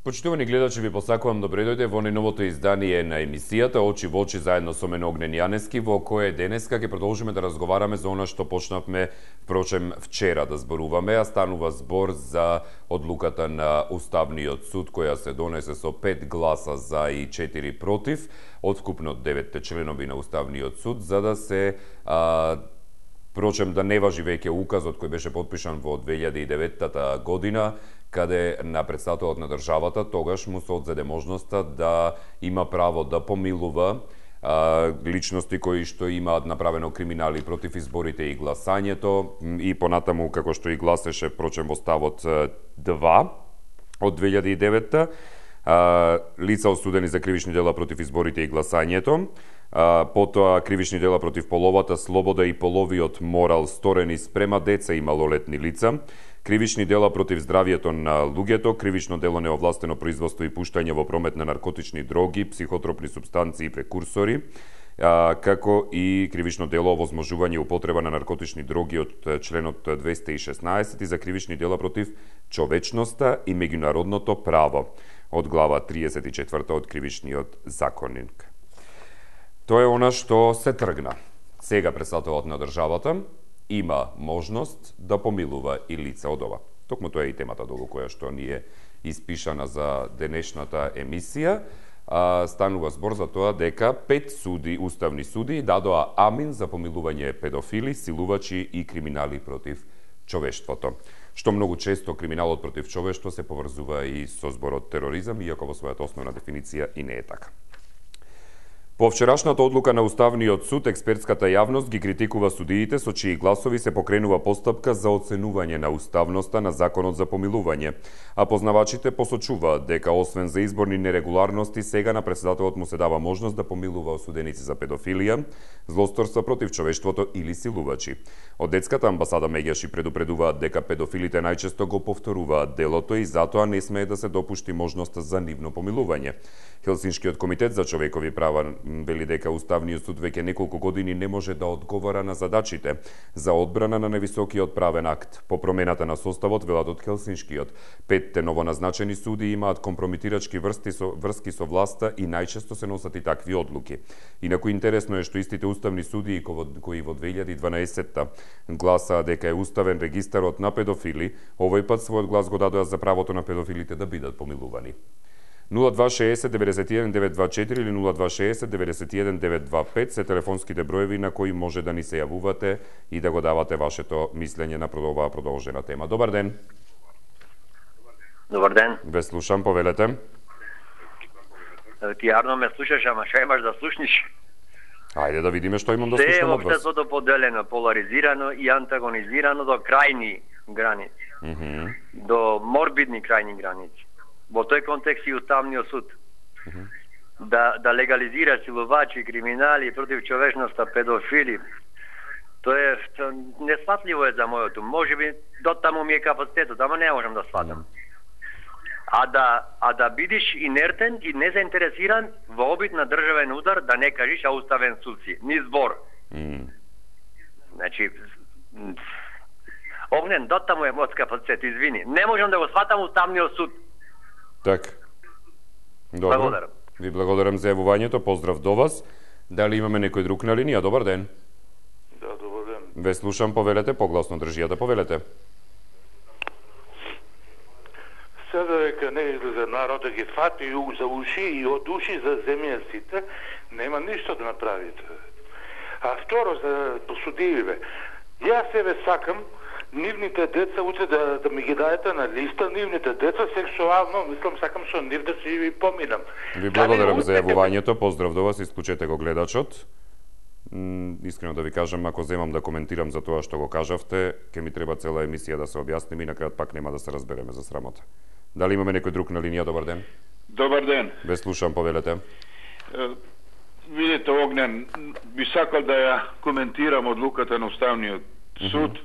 Почитувани гледачи, ви посакувам добре дојде во најновото издание на емисијата Очи во очи заедно со мене Огнен Јанески, во кое денеска ќе продолжиме да разговараме за она што почнавме впрочем вчера да зборуваме, а станува збор за одлуката на Уставниот суд која се донесе со 5 гласа за и 4 против од вкупно 9 членови на Уставниот суд, за да се впрочем да не важи веќе указот кој беше потпишан во 2009 година, каде на претставителот на државата тогаш му се одзеде можноста да има право да помилува личности кои што имаат направено криминали против изборите и гласањето и понатаму како што и гласеше впрочем во ставот 2 од 2009 лица осудени за кривични дела против изборите и гласањето, потоа кривични дела против половата слобода и половиот морал сторени спрема деца и малолетни лица, кривични дела против здравието на луѓето, кривично дело неовластено производство и пуштање во промет на наркотични дроги, психотропни супстанции и прекурсори, како и кривично дело овозможување употреба на наркотични дроги од членот 216 и за кривични дела против човечноста и меѓународното право од глава 34 од кривичниот законник. Тоа е она што се тргна. Сега претставителот на државата има можност да помилува и лица од ова. Токму тоа е и темата долу која што ни е испишана за денешната емисија. Станува збор за тоа дека 5 суди, уставни суди, дадоа амин за помилување педофили, силувачи и криминали против човештвото. Што многу често криминалот против човештво се поврзува и со зборот тероризам, иако во својата основна дефиниција и не е така. По вчерашната одлука на Уставниот суд, експертската јавност ги критикува судиите со чии гласови се покренува постапка за оценување на уставноста на законот за помилување, а познавачите посочуваат дека освен за изборни нерегуларности, сега на претседателот му се дава можност да помилува осуденици за педофилија, злосторства против човештвото или силувачи. Од детската амбасада меѓаши предупредуваат дека педофилите најчесто го повторуваат делото и затоа не смее да се допушти можноста за нивно помилување. Хелсиншкиот комитет за човекови права вели дека Уставниот суд веќе неколку години не може да одговара на задачите за одбрана на највисокиот правен акт. По промената на составот, велат од Хелсиншкиот, 5 новоназначени суди имаат компрометирачки врски со власта и најчесто се носат и такви одлуки. Инаку интересно е што истите уставни судии кои во 2012 гласаа дека е уставен регистарот на педофили, овој пат својот глас го дадоа за правото на педофилите да бидат помилувани. 0260 91 924 или 0260 91 925 се телефонските броеви на кои може да ни се јавувате и да го давате вашето мислење на оваа продолжена тема. Добар ден. Добар ден. Ве слушам, повелете. Ти јарно ме слушаш, ама што имаш да слушниш? Ајде да видиме што имам да слушам од вас. Се е општеството поделено, поларизирано и антагонизирано до крајни граници. До морбидни крајни граници. Во тој контекст и Уставниот суд да легализира силувачи, криминали против човечноста, педофили. Тоа е несфатливо е за мојот ум. Можеби дотаму ми е капацитетот, ама не можам да сватам. А да бидиш инертен и незаинтересиран во обид на државен удар, да не кажиш а Уставен суд си, ни збор. Значи Огнен, дотаму е мојот капацитет, извини. Не можам да го сватам Уставниот суд. Така. Добро. Благодарам. Ви благодарам за јавувањето, поздрав до вас. Дали имаме некој друг на линија? Добар ден. Да, добар ден. Ве слушам, повелете, погласно држијата, повелете. Сега дека не излезе народ да ги фати за уши и од уши за земја сите, нема ништо да направите. А второ, за посудививе, јас себе сакам нивните деца утре да ми ги дадете на листа, нивните деца сексуално, мислам, сакам со нив да си ви поминам. Ви благодарам за јавувањето, поздрав до вас, исклучете го гледачот. Искрено да ви кажам, ако земам да коментирам за тоа што го кажавте, ќе ми треба цела емисија да се објасниме и на крајот пак нема да се разбереме за срамота. Дали имаме некој друг на линија? Добар ден. Добар ден. Ве слушам, повелете. Видите, Огнен, би сакал да ја коментирам одлуката на Уставниот суд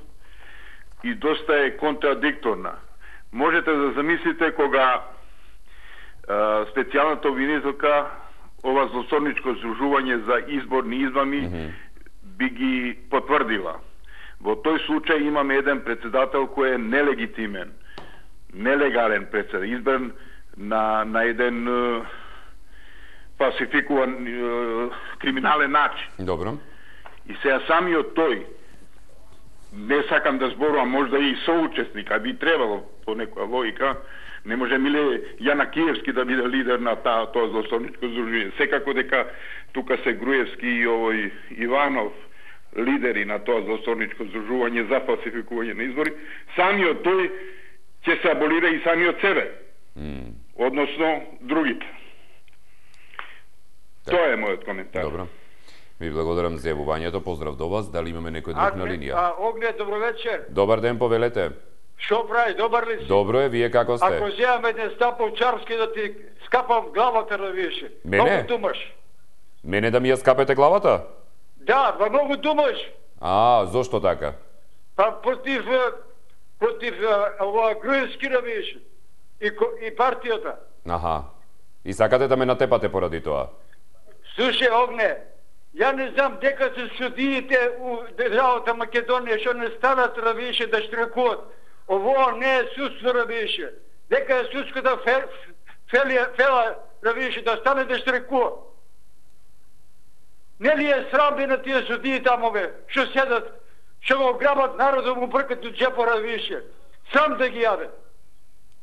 и доста е контрадикторна. Можете да замислите кога специјалната обвинителка ова злосторничко здружување за изборни измами би ги потврдила. Во тој случај имаме еден председател кој е нелегитимен, нелегален председател, избран на еден фалсификуван криминален начин. Добро. И сега самиот тој, не сакам да зборувам, можда и соучесник, а би требало по некоја логика, не може Миле Јанакиевски да биде лидер на тоа злосторничко здружување. Секако дека тука се Груевски и овој Иванов лидери на тоа злосторничко здружување за фалсификување на избори, самиот тој ќе се аболира и самиот себе. Односно другите. Тоа е мојот коментар. Добро. Ви благодарам за јавувањето. Поздрав до вас. Дали имаме некој друг на линија? Огне, добро вечер. Добар ден, повелете. Шо прави, добар ли си? Добро е, вие како сте? Ако земам еден стап овчарски да ти скапам главата на више. Мене? Многу думаш. Мене да ми ја скапете главата? Да, па многу думаш. Зошто така? Па против ова Груевски на више. И партијата. Аха. И сакате да ме натепате поради тоа? Слушај, Огне, ја не знам дека се судиите у државата Македонија што не станат да више да штрекуваат. Ово не е судство да више. Дека е судската фела да више да стане да штрекува. Не ли е срам на тие судии тамове, што седат, што го грабат народот, му бркат у джепора више. Сам да ги јаде.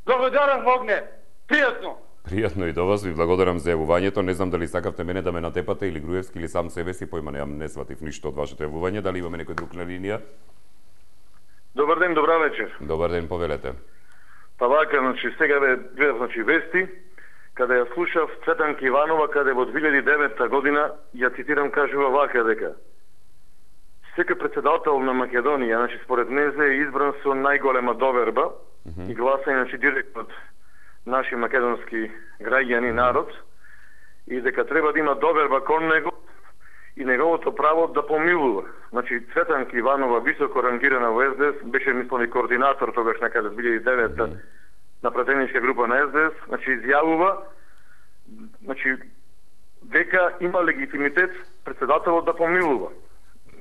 Благодарам, Огне. Пријатно. Пријатно и до вас, ви благодарам за јавувањето. Не знам дали сакавте мене да ме натепате или Груевски или сам себе си, појма немам, не сватив ништо од вашето јавување. Дали имаме некој друг на линија? Добар ден, добра вечер. Добар ден, повелете. Па вака, сега гледав вести, каде ја слушав Цветанка Иванова, каде во 2009 година, ја цитирам, кажува вака дека секој председател на Македонија, според незе е избран со најголема доверба и гласање, директно од наши македонски граѓани, народ, и дека треба да има доверба кон него и неговото право да помилува. Цветанка Иванова, високо рангирана во СДС, беше мислени координатор тогаш некаде 2009 на пратеничка група на СДС, изјавува дека има легитимитет председателот да помилува.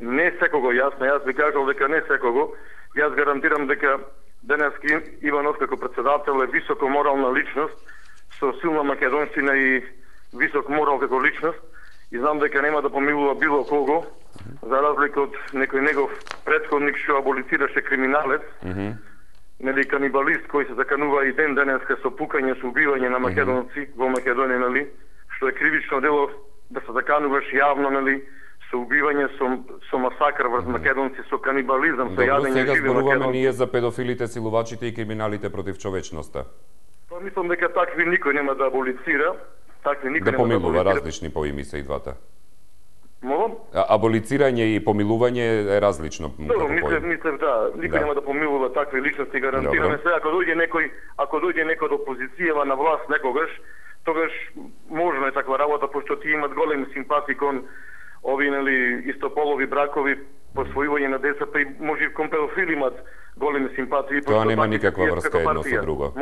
Не секого, јас би кажал дека не секого. Јас гарантирам дека денески Иванов како председател е високо морална личност, со силна македонщина и висок морал како личност, и знам дека нема да помилува било кого, за разлика од некој негов претходник што аболицираше криминалец, канибалист кој се заканува и ден денеска со пукање, со убивање на македонци во Македонија, што е кривично дело да се закануваш јавно, со убивање, со масакр врз македонци, со канибализам, со јадење сега живи зборуваме македонци. ние за педофилите, силувачите и криминалите против човечноста. Па мислам дека такви никој нема да аболицира, такви никој да нема помилува, да аболицира. различни поими се и двата. Молам? Аболицирање и помилување е различно. Добро, мислев да, никој нема да помилува такви личности, гарантираме се. Ако дојде некој од опозицијава на власт некогаш, тогаш можно е таква работа, пошто ти имат големи симпатии кон ови истополови бракови, посвојување на деца, па и може и кон педофили имат големи симпатии. Тоа нема никаква врска едно со друго.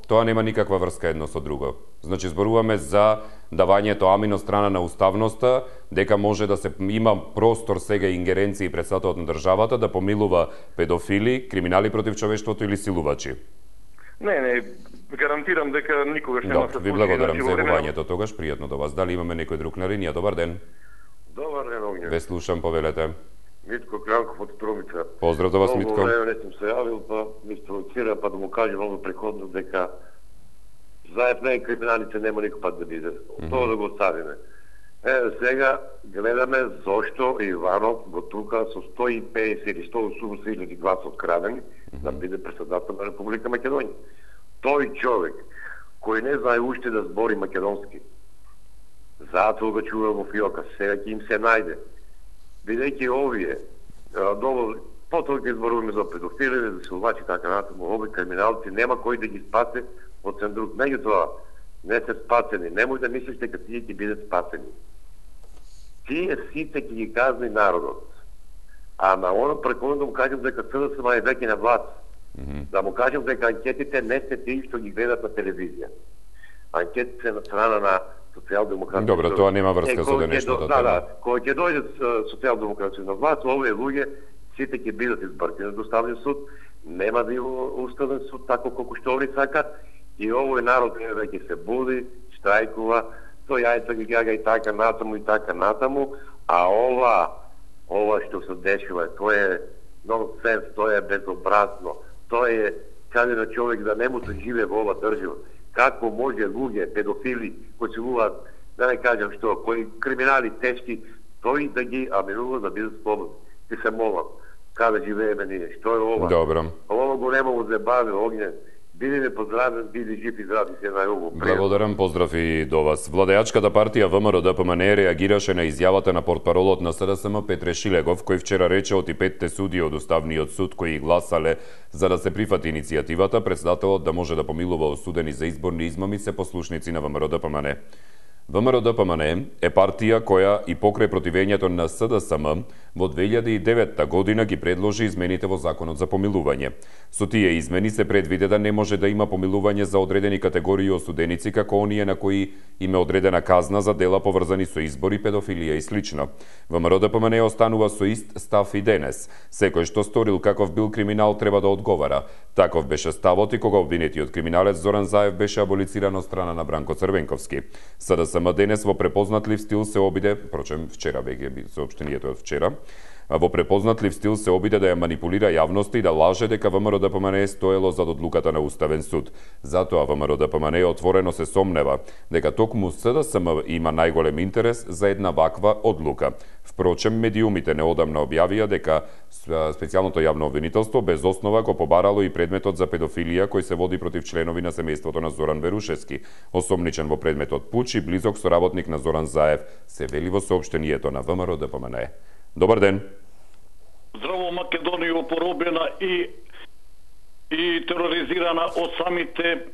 Тоа нема никаква врска едно со друго. Значи зборуваме за давањето амин од страна на уставноста, дека може да се има простор сега ингеренции пред статут на државата да помилува педофили, криминали против човештвото или силувачи. Не, гарантирам дека никогаш нема се случи. Ви благодарам за јавувањето тогаш, пријатно до вас. Дали имаме некој друг на линија? Добар ден. Добар ден, Огне. Ве слушам, повелете. Митко Кранков од Трумица. Поздрав до вас, Митко. Много време не сум се јавил, па ми спровоцира, па да му кажем много преходно дека заед мен криминалите нема никој пат да биде. Тоа да го оставиме. Сега гледаме зошто Иванов го тука со 150 или 180.000 гласов крадени да биде председател на Република Македонија. Тој човек кој не знае уште да збори македонски, затоа го чува во фиока, сега ќе им се најде. Бидејќи овие потоа ќе зборуваме за педофили, за силувачи и така натаму, овие криминалци нема кој да ги спасе од центрук. Меѓутоа, не се спасени. Не може да мислиш дека тие ќе бидат спасени. Тие сите ќе ги казни народот. А на оно преконно да му кажем дека СДСМ е веќе на власт. Да му кажем дека анкетите не се тие што ги гледат на телевизија. Анкетите се на страна на социјалдемократите. Добро, тоа нема врска со денешната тема. Да, кога ќе дојдат социјалдемократите на власт, овие луѓе сите ќе бидат избркани до Уставниот суд, нема да има Уставен суд тако колку што овие сакат И овој народ веќе се буди, штрајкува, тој јајца ги гага и така натаму, а ова што се дешава, тоа е нонсенс, тоа е безобразно, тоа е каде на човек да не му се живее во ова држава. Како може луѓе, педофили, кои се луѓат, да не кажам што, кои криминали тешки, тој да ги аминува да бидат слободни. Ти се молам, каде живееме ние, што е ова? Добро. Ова го нема во забави, Огнен. Биди ме поздравен, биди жив и здрав, се најубаво. Благодарам, поздрав и до вас. Владеачката партија ВМРО-ДПМНЕ реагираше на изјавата на портпаролот на СДСМ Петре Шилегов, кој вчера рече од и 5 судии од Уставниот суд кои гласале за да се прифати иницијативата, председателот да може да помилува осудени за изборни измами се послушници на ВМРО-ДПМНЕ. ВМРО-ДПМНЕ е партија која и покрај противењето на СДСМ во 2009 година ги предложи измените во Законот за помилување. Со тие измени се предвиде да не може да има помилување за одредени категории осуденици како оние на кои им е одредена казна за дела поврзани со избори, педофилија и слично. ВМРО-ДПМНЕ останува со ист став и денес. Секој што сторил каков бил криминал треба да одговара. Таков беше ставот и кога обвинетиот криминалец Зоран Заев беше аболициран од страна на Бранко Црвенковски. СДСМ денес во препознатлив стил се обиде, впрочем вчера беге соопштението од вчера, во препознатлив стил се обиде да ја манипулира јавноста и да лаже дека ВМРО-ДПМНЕ стоело зад одлуката на Уставен суд. Затоа ВМРО-ДПМНЕ отворено се сомнева дека токму СДСМ има најголем интерес за една ваква одлука. Впрочем, медиумите неодамна објавија дека специјалното јавно обвинителство без основа го побарало и предметот за педофилија кој се води против членови на семејството на Зоран Верушевски, осомничен во предметот пуч и близок соработник на Зоран Заев, се вели во соопштението на ВМРО-ДПМНЕ. Добар ден. Здраво, Македонија поробена и тероризирана од самите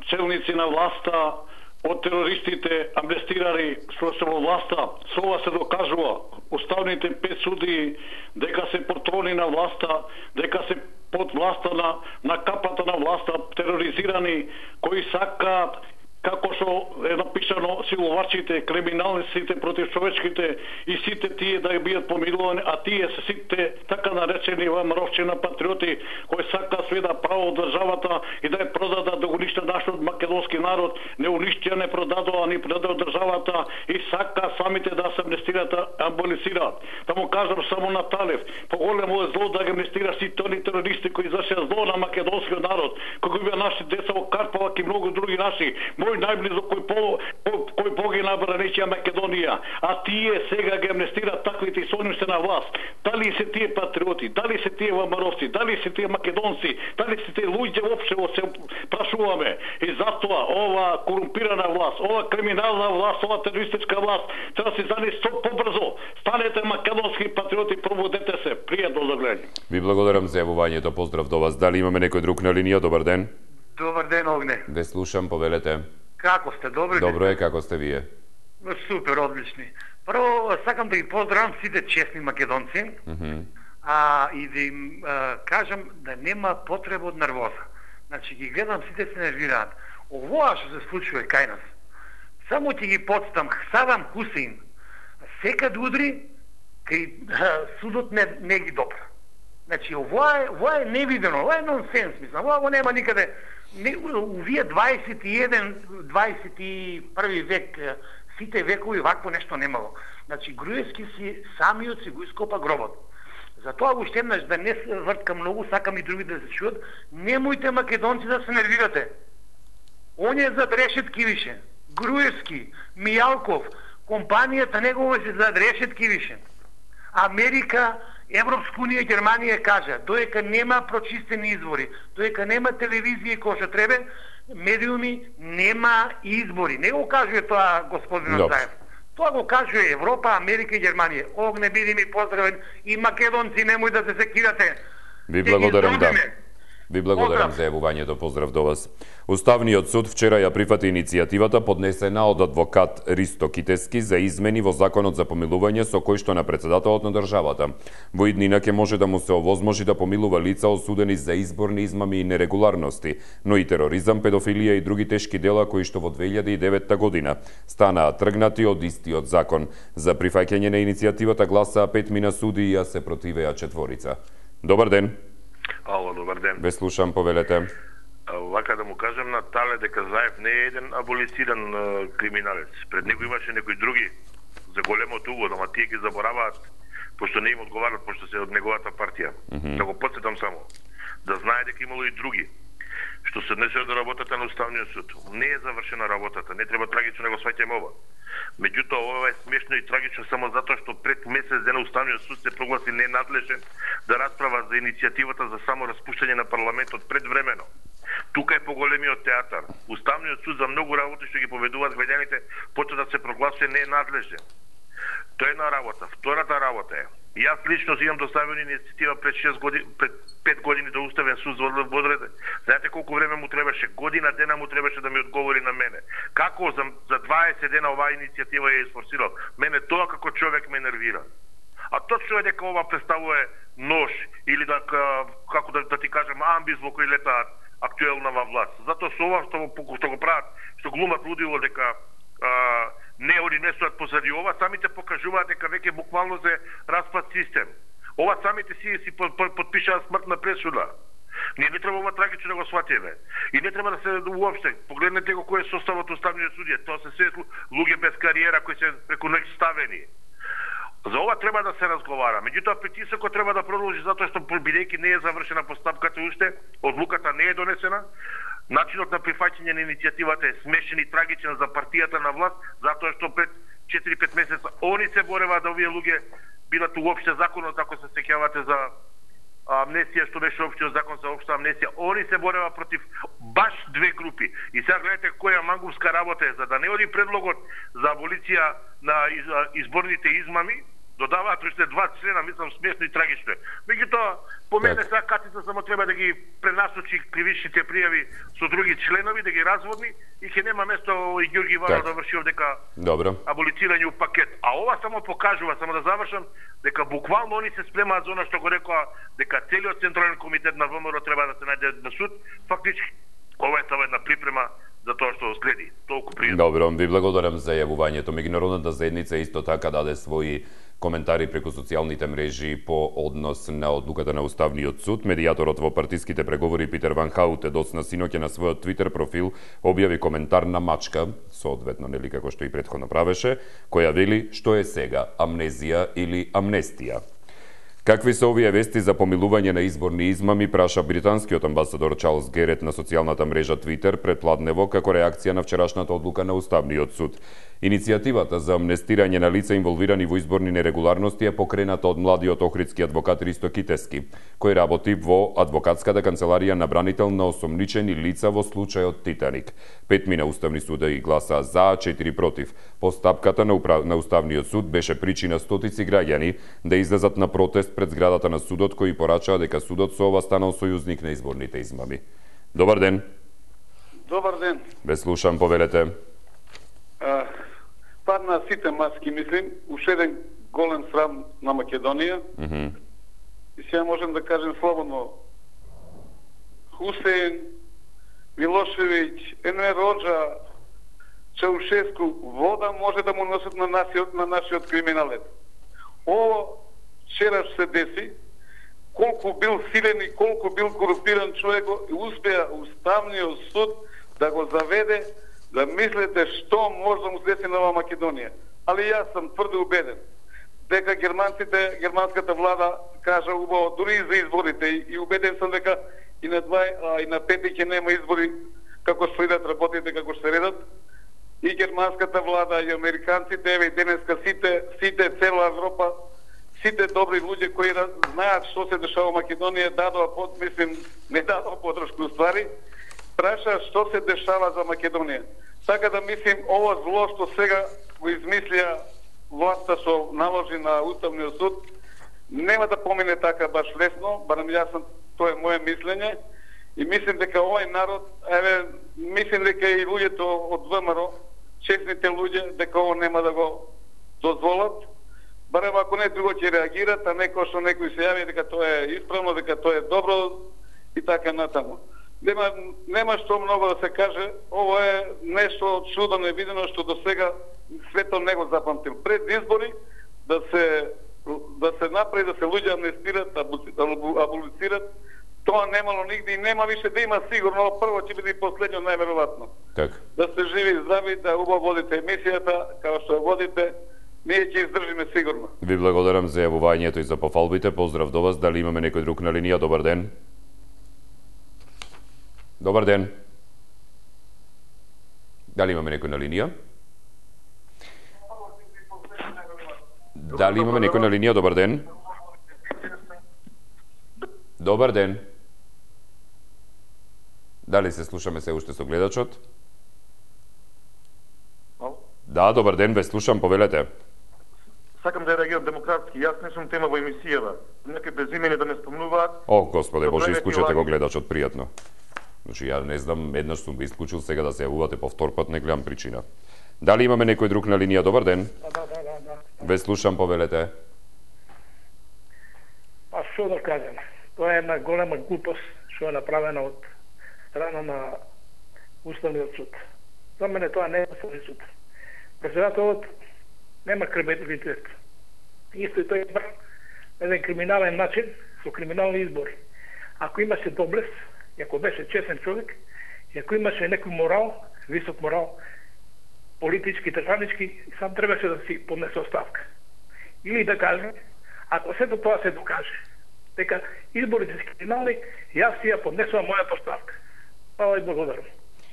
челници на власта, од терористите амнестирани што се во власта. Со ова се докажува уставните 5 судии дека се патрони на власта, дека се под власта на капата на власта, тероризирани кои сакаат, како што е напишано, силовачите, криминалниците против човечките и сите тие да бидат помилувани, а тие се сите така наречени ВМРО-вчина патриоти кои сака све да право од државата и да ја продадат, да го уништат нашиот македонски народ, не уништија, не продадоа, ни продадоа државата и сака самите да се амнестират, аболицираат. Да му кажам само на Талев, поголемо е зло да ги амнестира сите они терористи кои извршија зло на македонскиот народ, кои беа наши деца во Карпалак и многу други наши, најблизо кој погина бранечија Македонија, а тие сега ги амнестираат таквите и соним се на власт. Дали се тие патриоти, дали се тие ВМРО-вци, дали се тие македонци, дали се тие луѓе воопшто се прашуваме. И затоа ова корумпирана власт, ова криминална власт, ова терористичка власт треба да се зани што побрзо. Станете македонски патриоти, пробудете се. Пријатно за гледање. Ви благодарам за јавувањето, поздрав до вас. Дали имаме некој друг на линија? Добар ден. Добар ден, Огне. Ве слушам, повелете. Како сте, добри? Добро е, како сте вие? Супер, одлични. Прво, сакам да ги поздравам сите честни македонци, и да им кажам да нема потреба од нервоза. Значи, ги гледам, сите се нервираат. Овоа што се случува кај нас, само ќе ги подстам, Садам Хусейн, секад удри, кај судот не ги допра. Значи, ова е невидено, ова е нонсенс, мислам, ова нема никаде. Увие 21 век, сите векови вакво нешто немало. Значи, Груевски си самиот си го ископа гробот. Затоа уште еднаш да не се врткам многу, сакам и други да се чуат, немојте македонци да се нервирате. Он е зад решетки више. Груевски, Мијалков, компанијата негова се зад решетки више. Америка, Европска унија, Германија кажа, доека нема прочистени извори, доека нема телевизија кој што треба, медиуми, нема избори. Не го кажува тоа господин Заев. Тоа го кажува Европа, Америка и Германија. Огне, биди ми поздравен и македонци, немој да се секирате. Ви благодарам, да. Ви благодарам за јавувањето, поздрав до вас. Уставниот суд вчера ја прифати иницијативата поднесена од адвокат Ристо Китески за измени во Законот за помилување со кој што на председателот на државата во иднина ќе може да му се овозможи да помилува лица осудени за изборни измами и нерегуларности, но и тероризам, педофилија и други тешки дела кои што во 2009 година станаа тргнати од истиот закон. За прифаќање на иницијативата гласаа 5 судии, а се противеа 4. Добар ден. Ало, добар ден. Ве слушам, повелете. Вака да му кажем на Тале дека Заев не е еден аболициран криминалец. Пред него имаше некои други за големото угод, ама тие ги забораваат, пошто не им одговарат, пошто се од неговата партија. Да го потсетам само. Да знае дека имало и други. Што се однесува до работата на Уставниот суд. Не е завршена работата, не треба трагично да го сваќаме ова. Меѓутоа, ова е смешно и трагично само затоа што пред месец дена Уставниот суд се прогласи ненадлежен да расправа за иницијативата за само распуштање на парламентот предвремено. Тука е поголемиот театар. Уставниот суд за многу работи што ги поведуваат граѓаните почна да се прогласува ненадлежен. Тоа е една работа. Втората работа е: јас лично имам доставена иницијатива пред 5 години до Уставен суд за одреде. Знаете колку време му требаше? Година дена му требаше да ми одговори на мене. Како за 20 дена оваа иницијатива ја изфорсирал? Мене тоа како човек ме нервира. А точно е дека ова представува нож или да, како да ти кажем, амбис во кој летаат актуелна во власт. Затоа со ова што го прават, што глумат лудило дека не они не стоат позади ова, самите покажуваат дека веќе буквално се распад систем. Ова самите си подпишаат смртна пресуда. Ние не треба ова трагично да го сватиме. И не треба да се уопште. Погледнете го кој е составот Уставниот судија. Тоа се се луѓе без кариера кои се преку ноќ ставени. За ова треба да се разговара. Меѓутоа притисокот треба да продолжи затоа што бидејќи не е завршена постапката уште, одлуката не е донесена. Начинот на прифаќање на иницијативата е смешен и трагичен за партијата на власт, затоа што пред 4-5 месеца они се бореваа да овие луѓе бидат уопште законот, ако се сеќавате за амнестија, што беше општиот закон за општа амнестија. Они се бореваа против баш две групи. И сега гледате која мангурска работа е, за да не оди предлогот за аболиција на изборните измами, додаваат уште 2 члена, мислам смешно и трагично. Меѓутоа, по мене сега Катица само треба да ги пренасочи кривичните пријави со други членови, да ги разводни и ќе нема место и Ѓорги Иванов да врши овдека аболицирање у пакет. А ова само покажува, само да завршам, дека буквално они се спремаат за она што го рекоа, дека целиот Централен комитет на ВМРО треба да се најде на суд. Фактички, ова е само една припрема за тоа што следи. Толку пријатно. Добро, ви благодарам за јавувањето. Меѓународната заедница исто така даде своји коментари преку социјалните мрежи по однос на одлуката на Уставниот суд. Медијаторот во партиските преговори Питер Ван Хаутте досна синоќа на својот Твитер профил објави коментар на мачка, соодветно нели како што и претходно правеше, која вели што е сега, амнезија или амнестија. Какви се овие вести за помилување на изборни измами, праша британскиот амбасадор Чарлс Герет на социјалната мрежа Твитер пред ладнево како реакција на вчерашната одлука на Уставниот суд. Иницијативата за амнестирање на лица инволвирани во изборни нерегуларности е покрената од младиот охридски адвокат Ристо Китески, кој работи во адвокатската канцеларија на бранител на осомничени лица во случајот Титаник. 5 уставни суди гласаа за, 4 против. Постапката на Уставниот суд беше причина стотици граѓани да излезат на протест пред зградата на судот, кој порачаа дека судот со ова станал сојузник на изборните измами. Добар ден. Добар ден. Ве слушам, повелете. Падна сите маски, мислим, уште еден голем срам на Македонија. И сега можем да кажем слободно: Хусеин, Милошевиќ, Енвер Роджа, Чаушеску, вода може да му носат на нашиот криминалет. Ово вчера се деси, колку бил силен и колку бил корумпиран човек, и успеа Уставниот суд да го заведе, да мислите што може да му се деси на ова Македонија. Али јас сум тврдо убеден дека германската влада кажа убаво дури и за изборите, и убеден сум дека и на 2 и на 5 ќе нема избори како што идат работите, како што се редат. И германската влада, и американците, еве и денеска сите цела Европа, сите добри луѓе кои знаат што се дешава во Македонија, не дадоа подршка уствари, праша што се дешава за Македонија. Така да мислим, ова зло што сега го измислија власта што наложи на Уставниот суд, нема да помине така баш лесно, барем тоа е моје мислење, и мислим дека овој народ, мислим дека и луѓето од ВМРО, честните луѓе, дека ово нема да го дозволат, барем ако не друго ќе реагират, а некој што некој се јави дека тоа е исправно, дека тоа е добро и така натаму. Нема што многу да се каже, ово е нешто чудо невидено што до сега светот не го запамтил. Пред избори да се направи, да се луѓе амнестират, аболицират, Тоа немало нигде и нема више да има сигурно, прво ќе биде и последно најверојатно. Така. Да сте живи и здрави, да убаво водите емисијата, како што водите, ние ќе издржиме сигурно. Ви благодарам за јавувањето и за пофалбите. Поздрав до вас. Дали имаме некој друг на линија? Добар ден. Добар ден. Дали имаме некој на линија? Дали имаме некој на линија? Добар ден. Добар ден. Дали се слушаме се уште со гледачот? Да, добар ден, ве слушам, повелете. Сакам да реагирам демократски. Јас не сум тема во емисијава. Некои безимени да не спомнуваат. О, Господе Боже, исклучете го гледачот, пријатно. Значи, ја не знам, еднаш сум го исклучил, сега да се јавувате повтор пат, не гледам причина. Дали имаме некој друг на линија? Добар ден. Да. Ве слушам, повелете. Па што да кажем? Тоа е една голема глупост што е направена од страна на Уставниот суд. За мене тоа не е Уставни суд. Председателот нема кредибилитет. Исто и тој избран на еден криминален начин, со криминални избори. Ако имаше доблест, и ако беше честен човек, и ако имаше некој морал, висок морал, политички, државнички, сам требаше да си поднесе оставка. Или да каже, ако сето тоа се докаже, дека изборите се криминални, јас си ја поднесувам мојата оставка. Хвала и благодарам.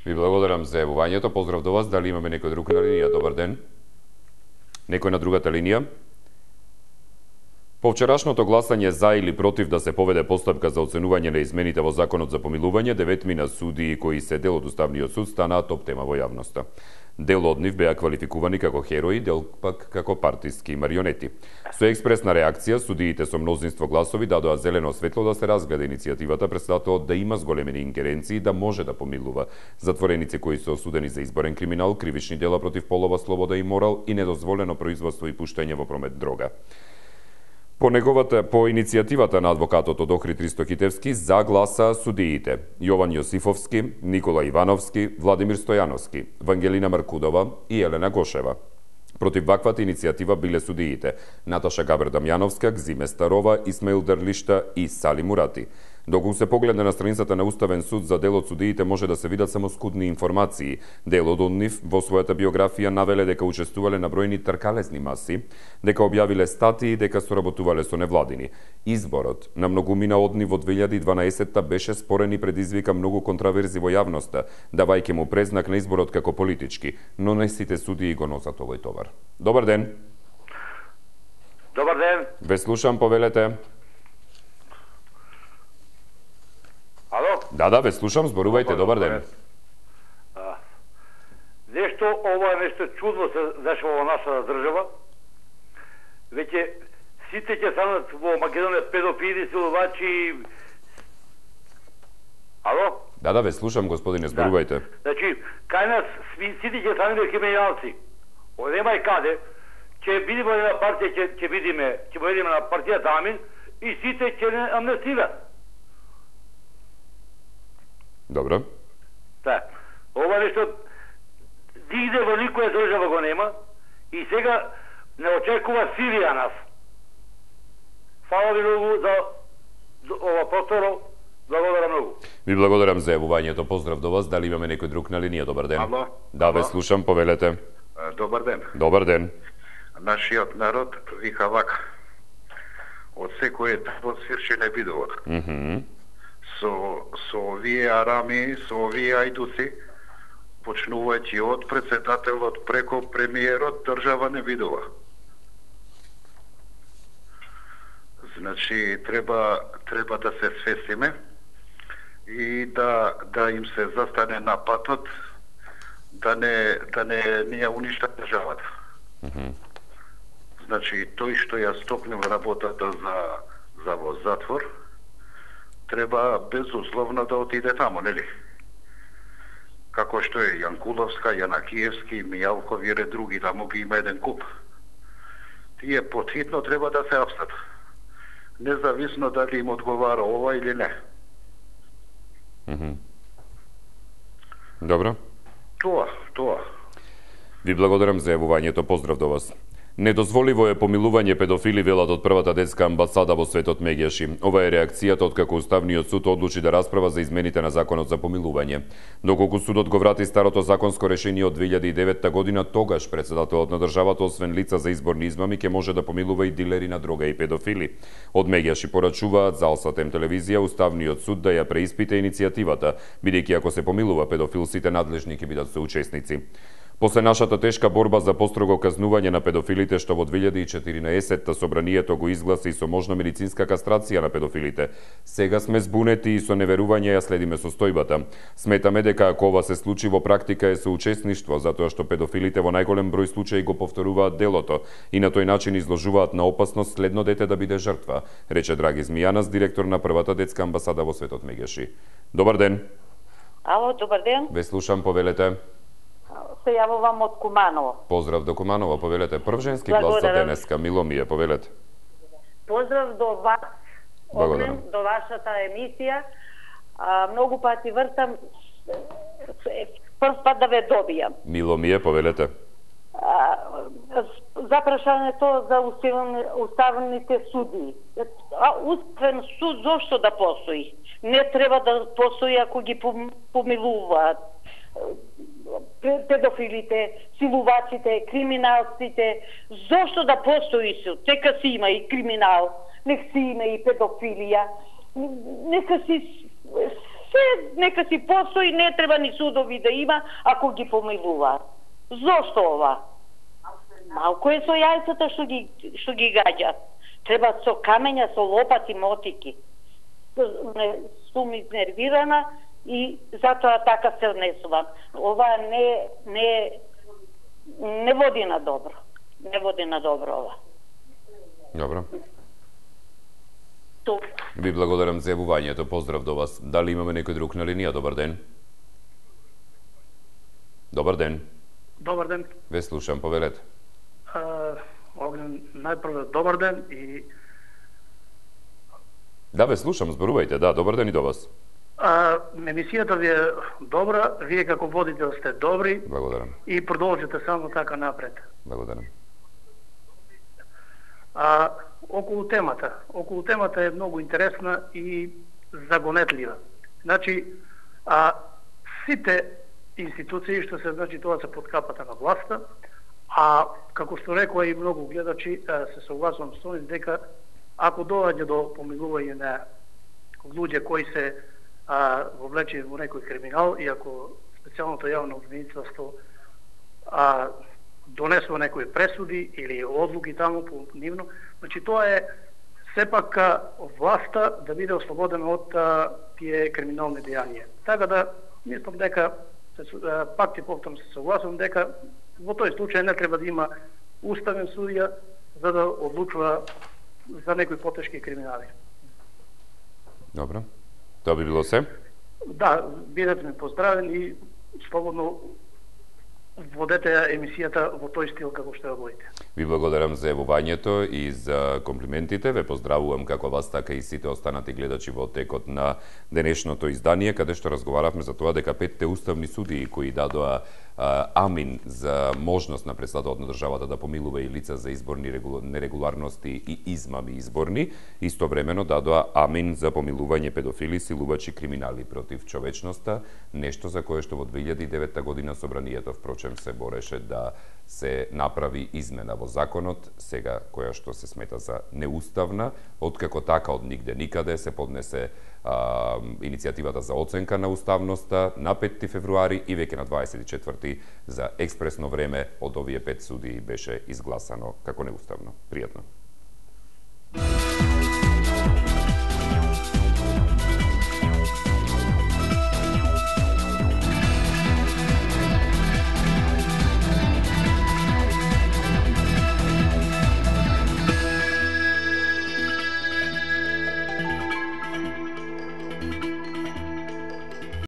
Ви благодарам за јавувањето. Поздрав до вас. Дали имаме некој друг на линија? Добар ден. Некој на другата линија? По вчерашното гласање за или против да се поведе постапка за оценување на измените во Законот за помилување, 9 судии кои се дел од Уставниот суд станаа топ тема во јавноста. Дел од нив беа квалификувани како херои, дел пак како партиски марионети. Со експресна реакција, судиите со мнозинство гласови дадоа зелено светло да се разгледа иницијативата председателот да има зголемени ингеренции да може да помилува затвореници кои се осудени за изборен криминал, кривични дела против полова слобода и морал и недозволено производство и пуштање во промет дрога. По иницијативата на адвокатот од Охрид Ристо Китевски за гласа судиите Јован Јосифовски, Никола Ивановски, Владимир Стојановски, Вангелина Маркудова и Елена Гошева. Против ваквата иницијатива биле судиите Наташа Габер Дамјановска, Гзиме Старова, Исмаил Дарлишта и Сали Мурати. Доколку се погледне на страницата на Уставен суд за дел од судиите може да се видат само скудни информации. Делот од нив во својата биографија навеле дека учествувале на бројни тркалезни маси, дека објавиле статии, дека соработувале со невладини. Изборот на многумина од нив во 2012 беше спорен и предизвика многу контраверзи во јавноста, давајќи му презнак на изборот како политички, но не сите судии го носат овој товар. Добар ден. Добар ден. Ве слушам, повелете. Ало? Да, ве слушам, зборувајте, добар ден. Нешто, ова е нешто чудно се дешава во нашата држава. Веќе сите ќе станат во Македонија педофили, силувачи. Ало? Да, ве слушам, господине, зборувајте. Значи, кај нас сите ќе станат криминалци. Нема и каде. Ќе бидеме на партија, ќе бидеме на партијата Амин и сите ќе не амнестират. Добро. Да. Ова нешто нигде во никоја држава го нема и сега не очекува Сирија нас. Фала ви многу за ова просторо. Благодарам многу. Ви благодарам за јавувањето. Поздрав до вас. Дали имаме некој друг на линија? Добар ден. Ало? Да, ве слушам, повелете. Добар ден. Добар ден. Нашиот народ вика вака. Од секој етап свирши не видовот. Со овие арами, со овие ајдуци, почнувајќи од председателот преко премиерот, држава не видува. Значи, треба да се свесиме и да им се застане на патот, да не ја уништа државата. Значи, тој што ја стопнил работата за во затвор, треба безусловно да отиде таму, нели? Како што е Јанкуловска, Јанакиевски, Мијалков и други, таму ги има еден куп. Тие потхитно треба да се апстат. Независно дали им одговара ова или не. Добро. Тоа. Ви благодарам за јавувањето. Поздрав до вас. Недозволиво е помилување педофили, велат од првата детска амбасада во светот Меѓаши. Ова е реакцијата откако Уставниот суд одлучи да расправа за измените на законот за помилување. Доколку судот го врати старото законско решение од 2009 година, тогаш председателот на државата освен лица за изборни измами ќе може да помилува и дилери на дрога и педофили. Од Меѓаши порачуваат за Алсатем телевизија Уставниот суд да ја преиспита иницијативата, бидејќи ако се помилува педофил, сите надлежни ќе бидат соучесници. После нашата тешка борба за построго казнување на педофилите, што во 2014 собранието го изгласи со можна медицинска кастрација на педофилите, сега сме збунети и со неверување ја следиме состојбата. Сметаме дека ако ова се случи во практика е соучесништво, затоа што педофилите во најголем број случаи го повторуваат делото и на тој начин изложуваат на опасност следно дете да биде жртва, рече Драги Змијанас, директор на првата детска амбасада во светот Меѓаши. Добар ден. Ало, добар ден. Ве слушам, повелете. Се јавувам од Куманово. Поздрав до Куманово, повелете. Прв женски глас за денеска, мило ми е, повелете. Поздрав до вас, Огнен, до вашата емисија. Многу пати вртам, прв пат да ве добијам. Мило ми е, повелете. За прашањето за уставните суди. Уставен суд зошто да постои? Не треба да постои ако ги помилуваат педофилите, силувачите, криминалците. Зошто да постои суд? Нека си има и криминал, нека си има и педофилија, нека си постои, не треба ни судови да има ако ги помилуваат. Зошто ова? Малко е со јајцата што ги гаѓат. Треба со камења, со лопати, мотики. Сум изнервирана и затоа така се однесувам. Ова не води на добро. Не води на добро ова. Добро. Ви благодарам за јавувањето. Поздрав до вас. Дали имаме некој друг на линија? Добар ден. Добар ден. Добар ден. Ве слушам, повелете. Огнен, најпрво добар ден и... Да, ве слушам, зборувајте, да, добар ден и до вас. Емисијата ви е добра, вие како водител сте добри. Благодарам. И продолжите само така напред. Благодарам. Околу темата е многу интересна и загонетлива. Значи, сите институции што се, значи, тоа се под капата на власта, како што рекоа и многу гледачи, се согласувам со нив дека ако доаѓа до помилување на луѓе кои се вовлечени во некој криминал и ако специјалното јавно обвинителство донесува некои пресуди или одлуки таму по нивно, значи тоа е сепак власта да биде ослободена од тие криминални дејанија. Така да мислам дека пак ти повторно се согласувам дека во тој случај не треба да има уставен судија за да одлучува за некои потешки криминали. Добро. Тоа би било се? Да, бидете ми поздравен и слободно водете емисијата во тој стил како што ја водите. Ви благодарам за јавувањето и за комплиментите. Ве поздравувам како вас, така и сите останати гледачи во текот на денешното издание, каде што разговаравме за тоа дека 5 уставни судии кои дадоа амин за можност на председателот на државата да помилува и лица за изборни нерегуларности и измами изборни, истовремено дадоа амин за помилување педофили, силувачи, криминали против човечноста, нешто за кое што во 2009 година собранието впрочем се бореше да се направи измена во законот, сега која што се смета за неуставна, откако така од нигде никаде се поднесе иницијативата за оценка на уставноста на 5 февруари и веќе на 24 за експресно време од овие 5 судии беше изгласано како неуставно. Пријатно.